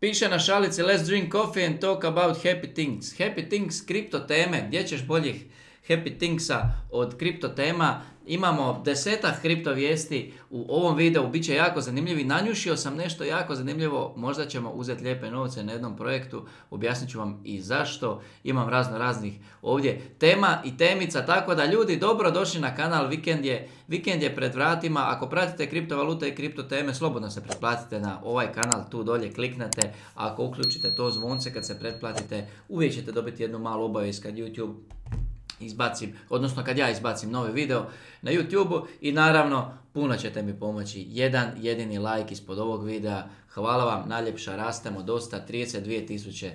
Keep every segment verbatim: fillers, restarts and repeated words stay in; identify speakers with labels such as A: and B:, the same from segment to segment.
A: Piše na šalici let's drink coffee and talk about happy things. Happy things, kripto teme, gdje ćeš boljih happy thingsa od kripto tema. Imamo desetak kripto vijesti u ovom videu, bit će jako zanimljivi. Nanjušio sam nešto jako zanimljivo, možda ćemo uzeti lijepe novce na jednom projektu, objasnit ću vam i zašto. Imam razno raznih ovdje tema i temica, tako da ljudi dobro došli na kanal, vikend je, vikend je pred vratima. Ako pratite kriptovalute i kripto teme, slobodno se pretplatite na ovaj kanal, tu dolje kliknete. Ako uključite to zvonce kad se pretplatite, uvijek ćete dobiti jednu malu obavijest kad YouTube izbacim, odnosno kad ja izbacim novi video na YouTube-u i naravno puno ćete mi pomoći. Jedan jedini like ispod ovog videa. Hvala vam najljepša, rastemo dosta, trideset dvije tisuće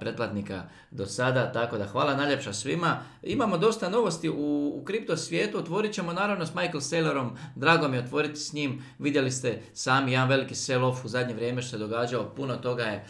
A: pretplatnika do sada, tako da hvala najljepša svima. Imamo dosta novosti u, u kripto svijetu, otvorit ćemo naravno s Michael Saylorom, drago mi je otvoriti s njim, vidjeli ste sami jedan veliki sell-off u zadnje vrijeme što se događao, puno toga je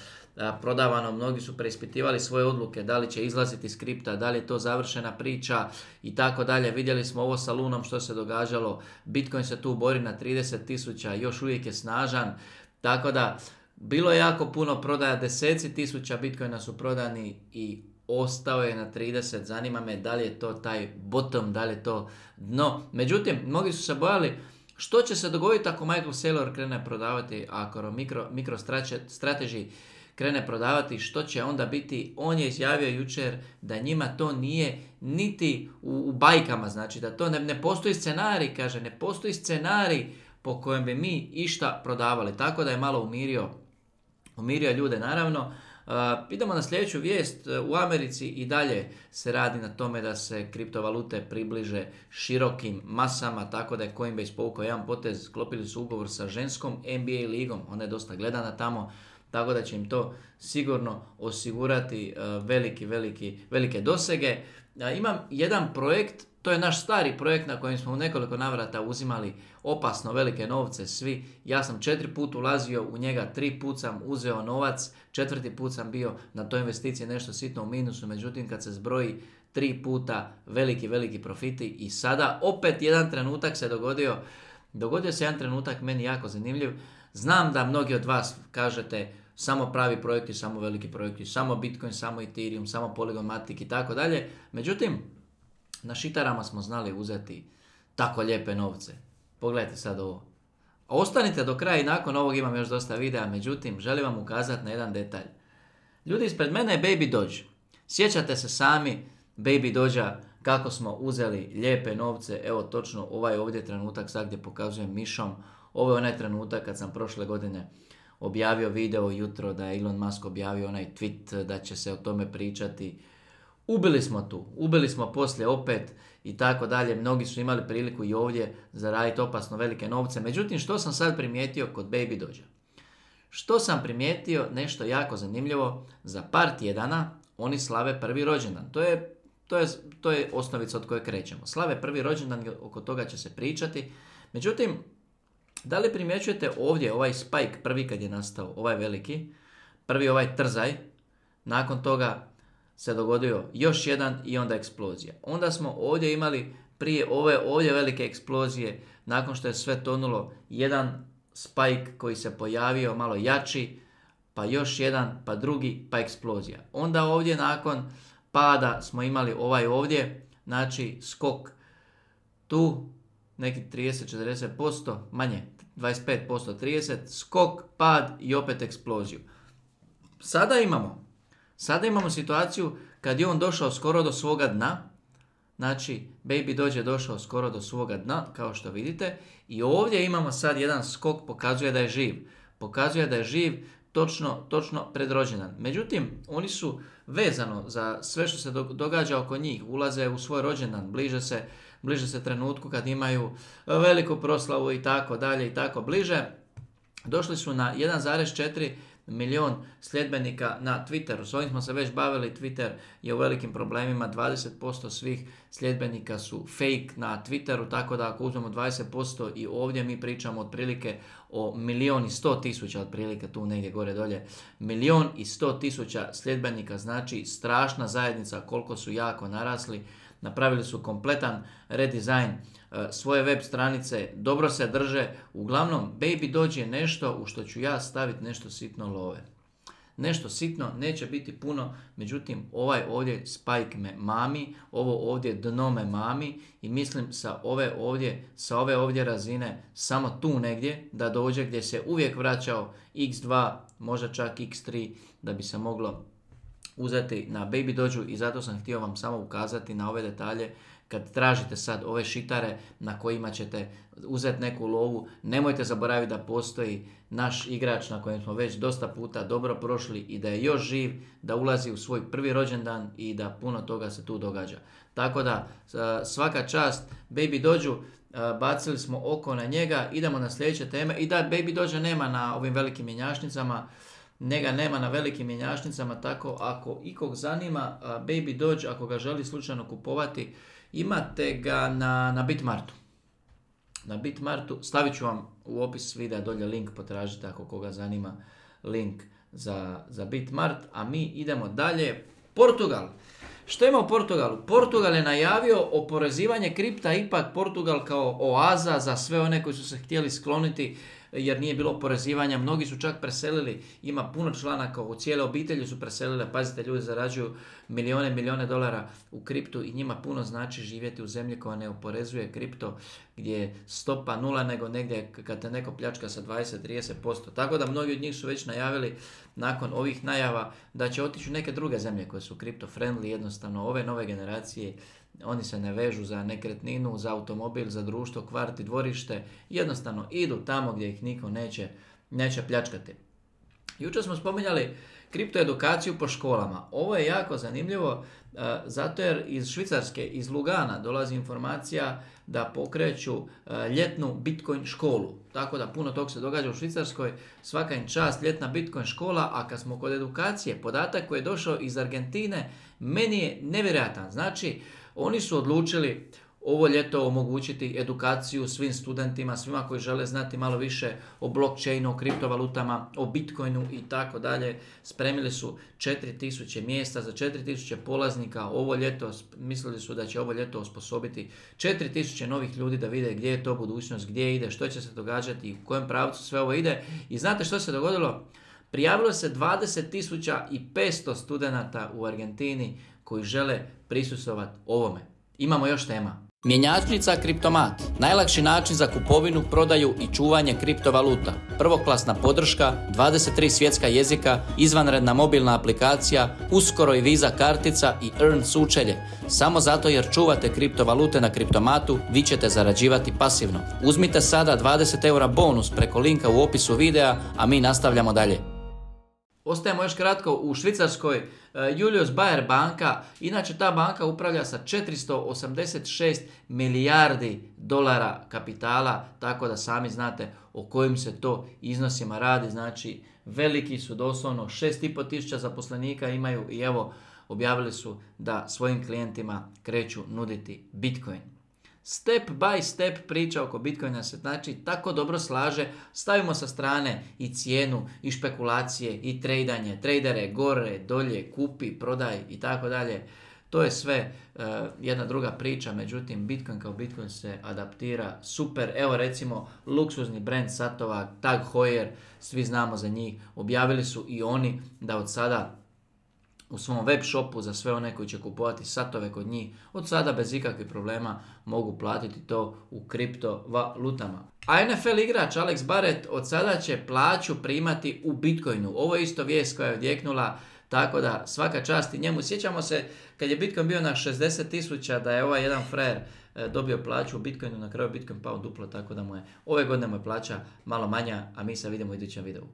A: prodavano, mnogi su preispitivali svoje odluke, da li će izlaziti iz kripta, da li je to završena priča i tako dalje. Vidjeli smo ovo sa Lunom što se događalo, Bitcoin se tu bori na trideset tisuća, još uvijek je snažan, tako da bilo je jako puno prodaja, deseci tisuća Bitcoina su prodani i ostao je na trideset, zanima me da li je to taj bottom, da li je to dno. Međutim, mnogi su se bojali što će se dogoditi ako Michael Saylor krene prodavati, ako mikro, mikro strategy krene prodavati, što će onda biti. On je izjavio jučer da njima to nije niti u, u bajkama, znači da to ne, ne postoji scenarij, kaže, ne postoji scenarij po kojem bi mi išta prodavali, tako da je malo umirio, umirio ljude naravno. Uh, idemo na sljedeću vijest. U Americi i dalje se radi na tome da se kriptovalute približe širokim masama, tako da je Coinbase povukao jedan potez, sklopili su ugovor sa ženskom N B A ligom, ona je dosta gledana tamo, tako da će im to sigurno osigurati uh, veliki, veliki, velike dosege. Uh, imam jedan projekt, to je naš stari projekt na kojem smo u nekoliko navrata uzimali opasno velike novce svi. Ja sam četiri put ulazio u njega, tri put sam uzeo novac, četvrti put sam bio na toj investiciji nešto sitno u minusu, međutim kad se zbroji tri puta veliki, veliki profiti i sada opet jedan trenutak se dogodio, dogodio se jedan trenutak meni jako zanimljiv. Znam da mnogi od vas kažete samo pravi projekti, samo veliki projekti, samo Bitcoin, samo Ethereum, samo Polygon Matic i tako dalje. Međutim, na šitarama smo znali uzeti tako lijepe novce. Pogledajte sad ovo. Ostanite do kraja i nakon ovog imam još dosta videa, međutim, želim vam ukazati na jedan detalj. Ljudi, ispred mene je Baby Doge. Sjećate se sami Baby Dogea kako smo uzeli lijepe novce, evo točno ovaj ovdje trenutak sad gdje pokazujem mišom. Ovo je onaj trenutak kad sam prošle godine objavio video jutro da je Elon Musk objavio onaj tweet da će se o tome pričati. Ubili smo tu, ubili smo poslije opet i tako dalje. Mnogi su imali priliku i ovdje zaraditi opasno velike novce. Međutim, što sam sad primijetio kod Baby Dogea? Što sam primijetio nešto jako zanimljivo, za par tjedana oni slave prvi rođendan. To je, to je, to je osnovica od koje krećemo. Slave prvi rođendan, oko toga će se pričati. Međutim, da li primjećujete ovdje ovaj spike prvi kad je nastao, ovaj veliki, prvi ovaj trzaj, nakon toga se dogodio još jedan i onda eksplozija. Onda smo ovdje imali prije ove ovdje velike eksplozije, nakon što je sve tonulo, jedan spike koji se pojavio malo jači, pa još jedan, pa drugi, pa eksplozija. Onda ovdje nakon pada smo imali ovaj ovdje, znači skok tu, neki trideset do četrdeset posto, manje, dvadeset pet posto, trideset, skok, pad i opet eksploziju. Sada imamo Sada imamo situaciju kad je on došao skoro do svoga dna, znači Baby Doge je došao skoro do svoga dna, kao što vidite, i ovdje imamo sad jedan skok, pokazuje da je živ, pokazuje da je živ točno, točno pred rođendan. Međutim, oni su vezano za sve što se događa oko njih, ulaze u svoj rođendan, bliže se, bliže se trenutku kad imaju veliku proslavu i tako dalje i tako bliže. Došli su na jedan zarez četiri milion sljedbenika na Twitteru. S ovim smo se već bavili, Twitter je u velikim problemima, dvadeset posto svih sljedbenika su fake na Twitteru, tako da ako uzmemo dvadeset posto i ovdje mi pričamo otprilike o milion i sto tisuća, otprilike tu negdje gore dolje, milion i sto tisuća sljedbenika, znači strašna zajednica koliko su jako narasli. Napravili su kompletan redizajn svoje web stranice, dobro se drže. Uglavnom, Baby Doge je nešto u što ću ja staviti nešto sitno love. nešto sitno, neće biti puno, međutim ovaj ovdje spike me mami, ovo ovdje dno me mami i mislim sa ove ovdje, sa ove ovdje razine samo tu negdje da dođe gdje se uvijek vraćao iks dva, možda čak iks tri da bi se moglo uzeti na Baby Dođu i zato sam htio vam samo ukazati na ove detalje. Kad tražite sad ove šitare na kojima ćete uzeti neku lovu, nemojte zaboraviti da postoji naš igrač na kojem smo već dosta puta dobro prošli i da je još živ, da ulazi u svoj prvi rođendan i da puno toga se tu događa. Tako da svaka čast Baby Dođu, bacili smo oko na njega, idemo na sljedeće teme i da Baby Dođa nema na ovim velikim mjenjačnicama, njega nema na velikim mjenjačnicama, tako ako ikog zanima Baby Dođ, ako ga želi slučajno kupovati, imate ga na, na Bitmartu. Na Bitmartu, stavit ću vam u opis videa dolje link, potražite ako koga zanima link za, za Bitmart, a mi idemo dalje. Portugal. Što ima u Portugalu? Portugal je najavio oporezivanje kripta, ipak Portugal kao oaza za sve one koji su se htjeli skloniti jer nije bilo oporezivanja. Mnogi su čak preselili, ima puno članaka, u cijele obitelji su preselile, pazite, ljudi zarađuju milijone, milijone dolara u kriptu i njima puno znači živjeti u zemlji koja ne oporezuje kripto, gdje je stopa nula, nego negdje kad te neko pljačka sa dvadeset do trideset posto. Tako da mnogi od njih su već najavili nakon ovih najava da će otići u neke druge zemlje koje su kripto friendly, jednostavno ove nove generacije. Oni se ne vežu za nekretninu, za automobil, za društvo, kvart i dvorište. Jednostavno idu tamo gdje ih niko neće, neće pljačkati. Jučer smo spominjali kriptoedukaciju po školama. Ovo je jako zanimljivo uh, zato jer iz Švicarske, iz Lugana dolazi informacija da pokreću uh, ljetnu Bitcoin školu. Tako da puno tog se događa u Švicarskoj. Svaka im čast, ljetna Bitcoin škola, a kad smo kod edukacije, podatak koji je došao iz Argentine, meni je nevjerojatan. Znači, oni su odlučili ovo ljeto omogućiti edukaciju svim studentima, svima koji žele znati malo više o blockchainu, o kriptovalutama, o bitcoinu i tako dalje. Spremili su četiri tisuće mjesta za četiri tisuće polaznika ovo ljeto. Mislili su da će ovo ljeto osposobiti četiri tisuće novih ljudi da vide gdje je to budućnost, gdje ide, što će se događati i u kojem pravcu sve ovo ide. I znate što se dogodilo? Prijavilo se dvadeset tisuća petsto studenata u Argentini koji žele prisustvovati ovome. Imamo još tema. Mjenjačnica Kriptomat. Najlakši način za kupovinu, prodaju i čuvanje kriptovaluta. Prvoklasna podrška, dvadeset tri svjetska jezika, izvanredna mobilna aplikacija, uskoro i Visa kartica i Earn sučelje. Samo zato jer čuvate kriptovalute na Kriptomatu, vi ćete zarađivati pasivno. Uzmite sada dvadeset eura bonus preko linka u opisu videa, a mi nastavljamo dalje. Ostajemo još kratko u Švicarskoj. Julius Baer banka, inače ta banka upravlja sa četiristo osamdeset šest milijardi dolara kapitala, tako da sami znate o kojim se to iznosima radi. Znači veliki su, doslovno šest i pol tisuća zaposlenika imaju i evo objavili su da svojim klijentima kreću nuditi Bitcoin. Step by step priča oko Bitcoina se znači tako dobro slaže, stavimo sa strane i cijenu i špekulacije i tradanje, tradere gore, dolje, kupi, prodaj i tako dalje. To je sve uh, jedna druga priča, međutim Bitcoin kao Bitcoin se adaptira super. Evo recimo luksuzni brand satova Tag Heuer, svi znamo za njih, objavili su i oni da od sada u svom web shopu za sve one koji će kupovati satove kod njih, od sada bez ikakvih problema mogu platiti to u kriptovalutama. A N F L igrač Alex Barrett od sada će plaću primati u Bitcoinu. Ovo je isto vijest koja je odjeknula, tako da svaka čast i njemu. Sjećamo se kad je Bitcoin bio na šezdeset tisuća da je ovaj jedan frajer dobio plaću u Bitcoinu, na kraju Bitcoin pao duplo, tako da mu je ove godine mu je plaća malo manja, a mi se vidimo u idućem videu.